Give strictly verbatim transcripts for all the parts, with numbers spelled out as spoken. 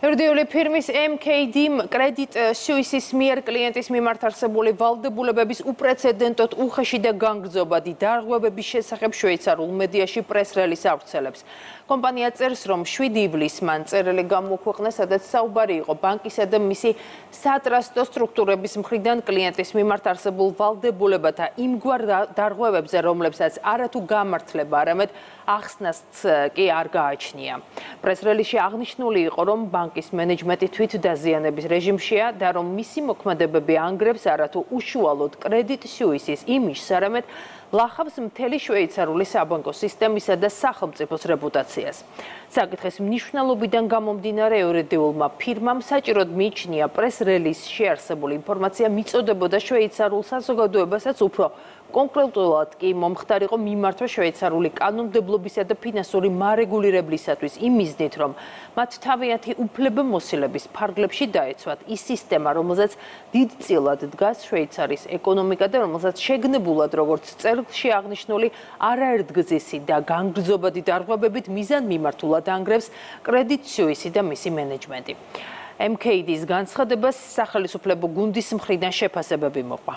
Erdiuli firmis M K D კრედიტ სუისის მიერ კლიენტის მიმართ არსებული ვალდებულებების უპრეცედენტოდ უხეში და განგრძობადი დარღვევების შესახებ შვეიცარიულ მედიაში პრეს-რელიზს ავრცელებს. Კომპანია წერს, რომ შვიდი ივლისს მან წერილი გამოქვეყნეს, სადაც საუბარი იყო ბანკისა და მისი სატრასტო სტრუქტურების მხრიდან კლიენტის მიმართ არსებულ ვალდებულებათა იმგვარ დარღვევებზე, რომლებსაც არათუ გამართლება, არამედ ახსნას კი არ გააჩნია. პრეს-რელიზში აღნიშნული იყო, რომ ბანკის მენეჯმენტი თვითდაზიანების რეჟიმშია და რომ მისი მოქმედებები ანგრევს არათუ უშუალოდ კრედიტ სუისის იმიჯს, არამედ ლახავს მთელი შვეიცარიული საბანკო სისტემისა და სახელმწიფოს რეპუტაციას. საკითხის მნიშვნელობიდან გამომდინარე იურიდიულმა ფირმამ საჭიროდ მიიჩნია პრეს-რელიზში არსებული ინფორმაცია მიწოდებოდა შვეიცარიულ საზოგადოებასაც უფრო კონკრეტულად კი მომხდარიყო მიმართვა შვეიცარიული კანონმდებლობისა და ფინანსური მარეგულირებლისათვის იმ მიზნით, რომ მათ თავიანთი უფლებამოსილების ფარგლებში დაეცვათ ის სისტემა, რომელზეც დიდწილად დგას შვეიცარიის ეკონომიკა და რომელსაც შეგნებულად, როგორც წერილში აღნიშნული, არაერთგზისი და განგრძობადი დარღვევებით მიზანმიმართულად ანგრევს კრედიტ სუისი და მისი მენეჯმენტი. M K D-ის განცხადებას სახელმწიფო გუნდის მხრიდან შეფასებები მოყვა.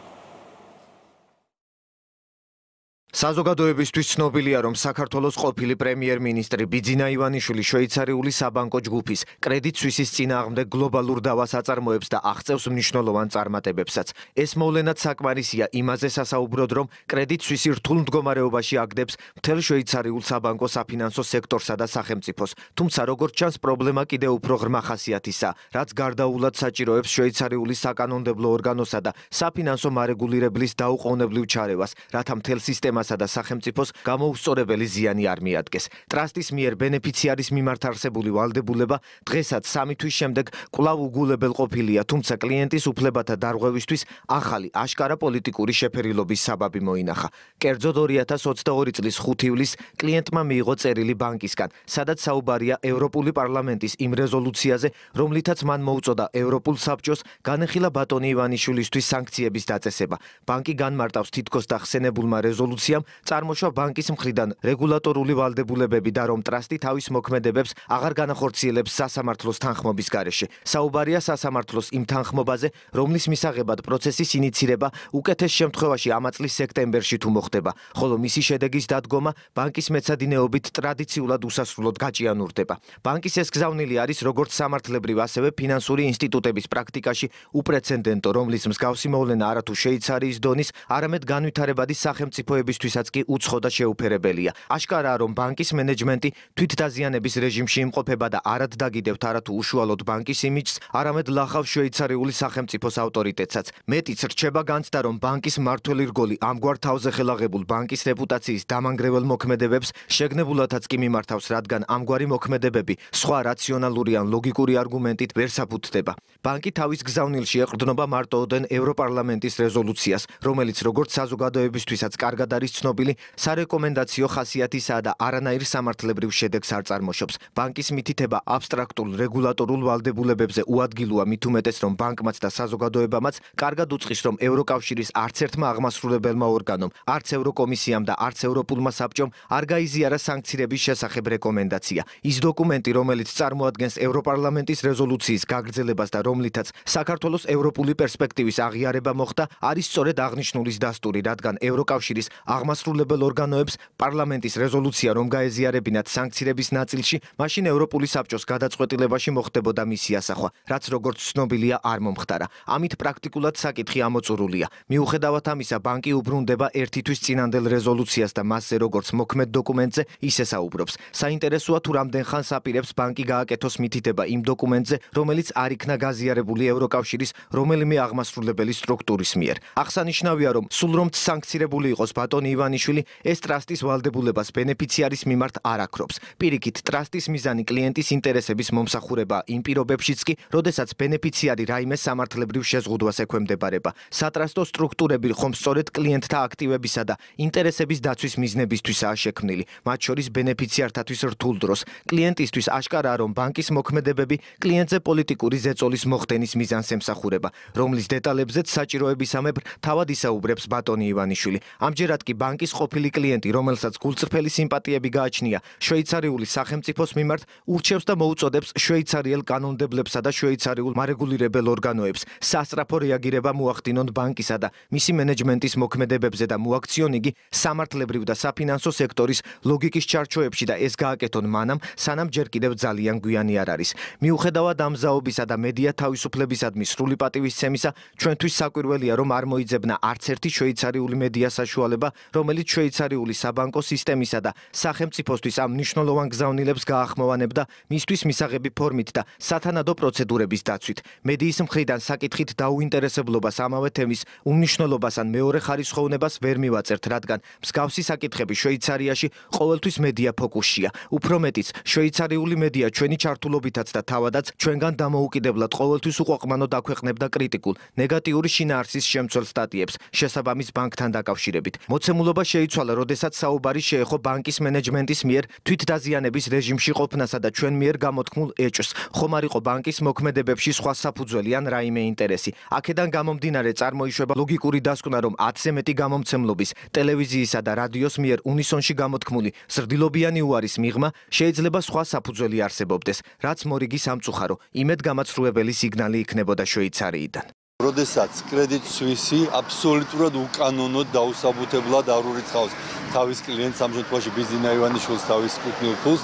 საზოგადოებისთვის ცნობილია, რომ საქართველოს ყოფილი პრემიერ-მინისტრი ბიძინა ივანიშვილი შვეიცარიული საბანკო ჯგუფის კრედიტ სუისის წინააღმდეგ გლობალურ დავას აწარმოებს და აღწევს მნიშვნელოვან წარმატებებსაც. ეს მოვლენად საკმარისია იმაზე სასაუბროდ, რომ კრედიტ სუისი რთულ მდგომარეობაში აგდებს მთელ შვეიცარიულ საბანკო საფინანსო სექტორსა და სახელმწიფოს. თუმცა, როგორც ჩანს, პრობლემა კიდევ უფრო ღრმა ხასიათისაა, რაც გარდაულად საჭიროებს შვეიცარიული საკანონმდებლო ორგანოსა და საფინანსო მარეგულირებლის დაუყოვნებლივ ჩარევას, რათა მთელ სისტემას და სახელმწიფოს გამოუსწორებელი ზიანი არ მიადგეს. ტრასტის მიერ ბენეფიციარის მიმართ არსებული ვალდებულება დღესაც სამი თვის შემდეგ კვლავ უგულებელ ყოფილია, თუმცა კლიენტის უფლებათა დარღვევისთვის ახალი აშკარა პოლიტიკური შეფერილობის საბაბი მოინახა. კერძოდ ორი ათას ოცდაორი წლის ხუთი ივლისს კლიენტმა მიიღო წერილი ბანკისგან, სადაც საუბარია ევროპული პარლამენტის იმ რეზოლუციაზე, რომლითაც მან მოუწოდა ევროპულ საბჭოს განეხილა ბატონი ივანიშვილისთვის სანქციების დაწესება. ბანკი განმარტავს თითქოს დახსენებულმა რეზოლუციამ წარმოშვა ბანკის მხრიდან რეგულატორული ვალდებულებები და რომ ტრასტი თავის მოქმედებებს აღარ განახორციელებს სასამართლოს თანხმობის გარეშე. საუბარია სასამართლოს იმ თანხმობაზე, რომლის მისაღებად პროცესის ინიცირება უკეთეს შემთხვევაში ამ წლის სექტემბერში თუ მოხდება, ხოლო მისი შედეგის დადგომა ბანკის მეცადინეობით ტრადიციულად უსასრულოდ გაჭიანურდება. ბანკის ეს გზავნილი არის როგორც სამართლებრივ, ასევე ფინანსური ინსტიტუტების პრაქტიკაში უპრეცედენტო, რომლის მსგავსი მოვლენა არათუ შვეიცარიის დონის, არამედ განვითარებადი სახელმწიფოების თვისაც კი უცხო და შეუფერებელია. აშკარაა, რომ ბანკის მენეჯმენტი თვითდაზიანების რეჟიმში იმყოფება და არად დაგიდევთ არათუ უშუალოდ ბანკის იმიჯს, არამედ ლახავს შვეიცარიული სახელმწიფოს ავტორიტეტსაც. მეტიც რჩება განცდა, რომ ბანკის მმართველი რგოლი ამგვარ თავზე ხელაღებულ ბანკის რეპუტაციის დამანგრეველ მოქმედებებს შეგნებულადაც კი მიმართავს, რადგან ამგვარი მოქმედებები სხვა რაციონალური ან ლოგიკური არგუმენტით ვერ საფუძდება. ბანკი თავის გზავნილში ეყრდნობა მარტოოდენ ევროპარლამენტის რეზოლუციას, რომელიც როგორც საზოგადოებისთვისაც კარგად არის ცნობილი, სარეკომენდაციო ხასიათისაა და არანაირ სამართლებრივ შედეგს არ წარმოშობს. ბანკის მითითება აბსტრაქტულ რეგულატორულ ვალდებულებებზე უადგილოა, მით უმეტეს, რომ ბანკმაც და საზოგადოებამაც კარგად უწყის, რომ ევროკავშირის არც ერთმა აღმასრულებელმა ორგანომ, არც ევროკომისიამ და არც ევროპულმა საბჭომ არ გაიზიარა სანქციების შესახებ რეკომენდაცია. ის დოკუმენტი, რომელიც წარმოადგენს ევროპარლამენტის რეზოლუციის გაგრძელებას და რომლითაც საქართველოს ევროპული პერსპექტივის აღიარება მოხდა, არის სწორედ აღნიშნულის დასტური, რადგან ევროკავშირის აღმასრულებელ ორგანოებს პარლამენტის რეზოლუცია რომ გაეზიარებინათ სანქციების ნაწილში, მაშინ ევროპული საბჭოს გადაწყვეტილებაში მოხდებოდა მისი ასახვა, რაც როგორც ცნობილია არ მომხდარა. ამით პრაქტიკულად საკითხი ამოწურულია. მიუხედავად ამისა, ბანკი უბრუნდება ერთი თვის წინანდელ რეზოლუციას და მასზე როგორც მოქმედ დოკუმენტზე ისე საუბრობს. საინტერესოა თუ რამდენ ხანს აპირებს ბანკი გააკეთოს მითითება იმ დოკუმენტზე, რომელიც არ იქნა გაზიარებული ევროკავშირის რომელიმე აღმასრულებელი სტრუქტურის მიერ. აღსანიშნავია, რომ სულ რომ სანქცირებული იყოს ბატონი ივანიშვილი, ეს ტრასტის ვალდებულებას ბენეფიციარის მიმართ არ აქრობს. პირიქით, ტრასტის მიზანი კლიენტის ინტერესების მომსახურება იმ პირობებშიც კი, როდესაც ბენეფიციარი რაიმე სამართლებრივ შეზღუდვას ექვემდებარება. სატრასტო სტრუქტურები ხომ სწორედ კლიენტთა აქტივებისა და ინტერესების დაცვის მიზნებისთვისაა შექმნილი, მათ შორის ბენეფიციართათვის რთულ დროს. კლიენტისთვის აშკარაა, რომ ბანკის მოქმედებები კლიენტზე პოლიტიკური ზეწოლის მოხდენის მიზანს ემსახურება, რომლის დეტალებზეც საჭიროებისამებრ თავად ისაუბრებს ბატონი ივანიშვილი. ამჯერად კი ბანკის ყოფილი კლიენტი, რომელსაც გულწრფელი სიმპათიები გააჩნია შვეიცარიული სახელმწიფოს მიმართ, ურჩევს და მოუწოდებს შვეიცარიელ კანონმდებლებსა და შვეიცარიულ მარეგულირებელ ორგანოებს სასწრაფო რეაგირება მოახდინონ ბანკისა და მისი მენეჯმენტის მოქმედებებზე და მოაქციონ იგი სამართლებრივ და საფინანსო სექტორის ლოგიკის ჩარჩოებში და ეს გააკეთონ მანამ, სანამ ჯერ კიდევ ძალიან გვიანი არ არის. მიუხედავად ამ ზაობისა და მედია თავისუფლებისადმი სრული პატივისცემისა, ჩვენთვის საკვირველია, რომ არ მოიძებნა არც ერთი შვეიცარიული მედია საშუალება, რომელიც შვეიცარიული საბანკო სისტემისა და სახელმწიფოსთვის ამ მნიშვნელოვან გზავნილებს გაახმოვანებდა მისთვის მისაღები ფორმით და სათანადო პროცედურების დაცვით. მედიის მხრიდან საკითხით დაუინტერესებლობას ამავე თემის უმნიშვნელობას ან მეორე ხარისხოვნებას ვერ მივაწერთ, რადგან მსგავსი საკითხები შვეიცარიაში ყოველთვის მედია ფოკუსშია. უფრო მეტიც, შვეიცარიული მედია ჩვენი ჩართულობითაც და თავადაც ჩვენგან დამოუკიდებლად ყოველთვის უყვაყმანოდ აქვეყნებდა კრიტიკულ, ნეგატიური შინაარსის შემცველ სტატიებს შესაბამის ბანკთან დაკავშირებით. მოცემულობა შეიცვალა, როდესაც საუბარი შეეხო ბანკის მენეჯმენტის მიერ თვითდაზიანების რეჟიმში ყოფნასა და ჩვენ მიერ გამოთქმულ ეჭვს, ხომ არ იყო ბანკის მოქმედებებში სხვა საფუძველი ან რაიმე ინტერესი. აქედან გამომდინარე წარმოიშვება ლოგიკური დასკვნა, რომ ათზე მეტი გამომცემლობის, ტელევიზიისა და რადიოს მიერ უნისონში გამოთქმული ზრდილობიანი უარის მიღმა შეიძლება სხვა საფუძველი არსებობდეს, რაც მორიგი სამწუხარო, იმედგამაცრუებელი სიგნალი იქნებოდა შვეიცარიიდან. როდესაც კრედიტ სუისი აბსოლუტურად უკანონოდ დაუსაბუთებლად არ ურიცხავს თავის კლიენტს, ამ შემთხვევაში ბიზინა ივანიშვილს თავის კუთვნილ ფულს,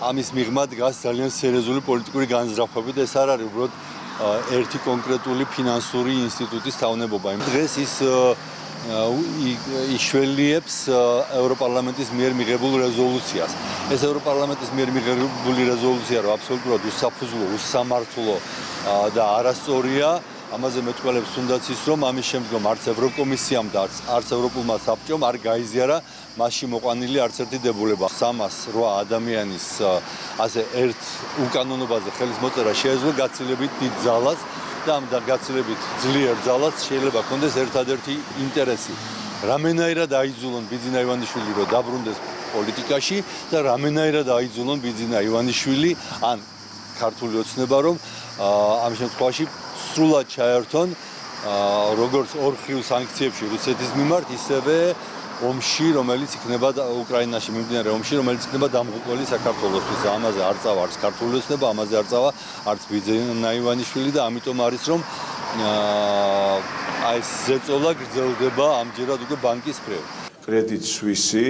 ამის მიღმა დგას ძალიან სერიოზული პოლიტიკური განზრახვები და ეს არ არის უბრალოდ ერთი კონკრეტული ფინანსური ინსტიტუტის თავნებობა. დღეს ის იშველიებს ევროპარლამენტის მიერ მიღებულ რეზოლუციას. ეს ევროპარლამენტის მიერ მიღებული რეზოლუცია, რომ აბსოლუტურად უსაფუძვლო, უსამართლო და არასწორია, ამაზე მეტყველებს თუნდაც ის, რომ ამის შემდგომ არც ევროკომისიამ და არც ევროპულმა საბჭომ არ გაიზიარა მასში მოყვანილი არც ერთი დებულება. სამას რვა ადამიანის ასე ერთ უკანონობაზე ხელის მოწერა შეეძლო გაცილებით დიდ ძალას და ამ გაცილებით ძლიერ ძალას შეიძლება ჰქონდეს ერთადერთი ინტერესი. რამენაირად აიძულონ ბიძინა ივანიშვილი, რომ დაბრუნდეს პოლიტიკაში და რამენაირად აიძულონ ბიძინა ივანიშვილი ან ქართული ოცნება, რომ ამ შემთხვევაში სრულად ჩაერთონ როგორც ორხრივ სანქციებში რუსეთის მიმართ, ისევე ომში, რომელიც იქნება უკრაინაში მიმდინარე ომში, რომელიც იქნება დამღუპველი საქართველოსთვის. ამაზე არ წავა არც ქართული ოცნება, ამაზე არ წავა არც ბიძინა ივანიშვილი და ამიტომ არის, რომ აი ეს ზეწოლა გრძელდება ამჯერად უკვე ბანკის მხრივ. კრედიტ სუისი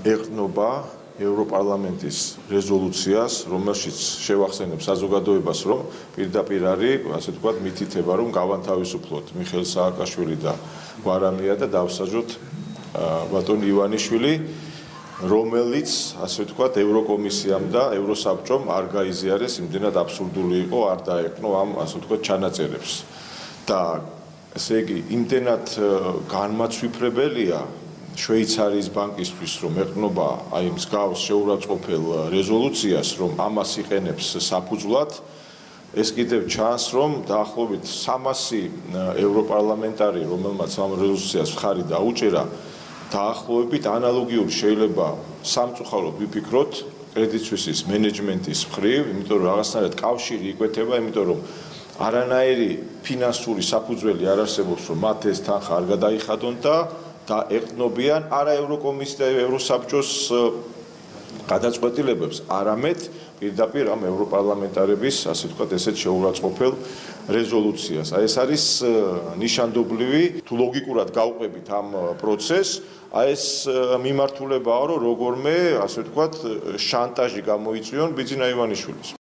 ეყრდნობა ევროპარლამენტის რეზოლუციას, რომელშიც შევახსენებ საზოგადოებას, რომ პირდაპირ არის, ასე ვთქვათ, მითითება, რომ გავანთავისუფლოთ მიხეილ სააკაშვილი და გვარამია და დავსაჯოთ ბატონ ივანიშვილი, რომელიც, ასე ვთქვათ, ევროკომისიამ და ევროსაბჭომ არ გაიზიარეს, იმდენად აბსურდული იყო, არ დაეკნო ამ, ასე ვთქვათ, ჩანაწერებს. და ესე იგი, იმდენად განმაცვიფრებელია შვეიცარიის ბანკისთვის, რომ ეყრდნობა აი მსგავს შეურაცხყოფელ რეზოლუციას, რომ ამას იყენებს საფუძვლად, ეს კიდევ ჩანს, რომ დაახლოებით სამასი ევროპარლამენტარი, რომელმაც ამ რეზოლუციას მხარი დაუჭერა, დაახლოებით ანალოგიური შეიძლება სამწუხაროდ ვიფიქროთ კრედიტ სუისის მენეჯმენტის მხრივ, იმიტომ რომ რაღაცნაირად კავშირი იკვეთება, იმიტომ რომ არანაირი ფინანსური საფუძველი არ არსებობს, რომ მათ ეს თანხა არ გადაიხადონ და და ეყრდნობიან არა ევროკომისიის და ევროსაბჭოს გადაწყვეტილებებს, არამედ პირდაპირ ამ ევროპარლამენტარების, ასე ვთქვათ, ესეთ შეურაცხყოფელ რეზოლუციას. აი ეს არის ნიშანდობლივი, თუ ლოგიკურად გავყვებით ამ პროცესს, აი ეს მიმართულებაა, რომ როგორმე, ასე ვთქვათ, შანტაჟი გამოიწვიონ ბიძინა ივანიშვილის.